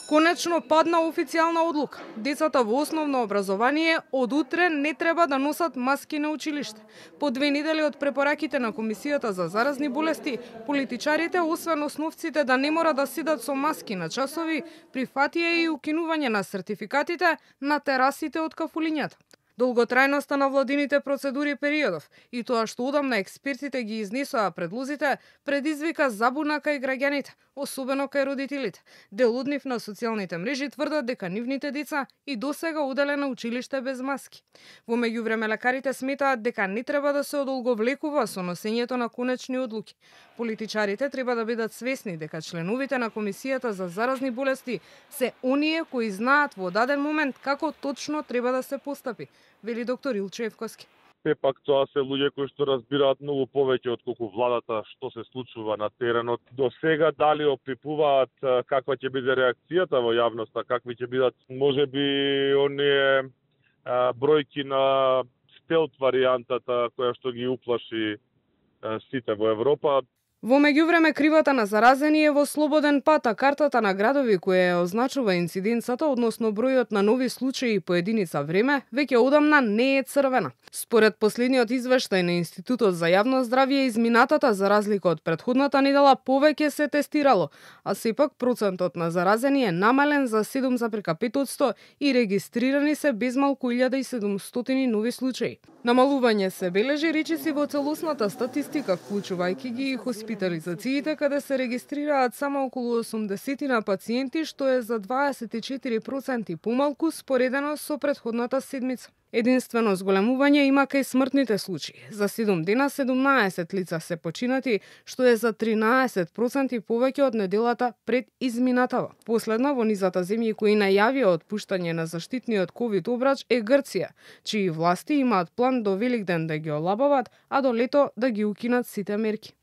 Конечно падна официјална одлука. Децата во основно образование од утре не треба да носат маски на училиште. По 2 недели од препораките на Комисијата за заразни болести, политичарите, освен основците да не мора да седат со маски на часови, прифатија и укинување на сертификатите на терасите од кафулињата. Долготрајноста на владините процедури периодов и тоа што одамна експертите ги изнесоа предлозите, предизвика забуна кај граѓаните, особено кај родителите. Дел од нив на социјалните мрежи тврдат дека нивните деца и досега оделе на училиште без маски. Во меѓувреме лекарите сметаат дека не треба да се одолговлекува со носењето на конечни одлуки. Политичарите треба да бидат свесни дека членовите на Комисијата за заразни болести се оние кои знаат во даден момент како точно треба да се постапи, вели доктор Илчо Евковски. Сепак тоа се луѓе кои што разбираат многу повеќе од колку владата што се случува на теренот. До сега дали опипуваат каква ќе биде реакцијата во јавноста, какви ќе бидат можеби оние бројки на стелт варијантата која што ги уплаши сите во Европа. Во меѓувреме кривата на заразени е во слободен пат, а картата на градови која ја означува инциденцата, односно бројот на нови случаи по единица време, веќе одамна не е црвена. Според последниот извештај на Институтот за јавно здравје, изминатата за разлика од претходната недела повеќе се тестирало, а сепак процентот на заразени е намален за 7,5% и регистрирани се безмалку 1700 нови случаи. Намалување се бележи речиси во целосната статистика, вклучувајќи ги и хоспитализациите, каде се регистрираат само околу 80 на пациенти, што е за 24% помалку споредено со претходната седмица. Единствено зголемување има кај смртните случаи. За 7 дена 17 лица се починати, што е за 13% повеќе од неделата пред изминатава. Последна во низата земји кои најавија отпуштање на заштитниот ковид обрач е Грција, чии власти имаат план до Великден да ги олабават, а до лето да ги укинат сите мерки.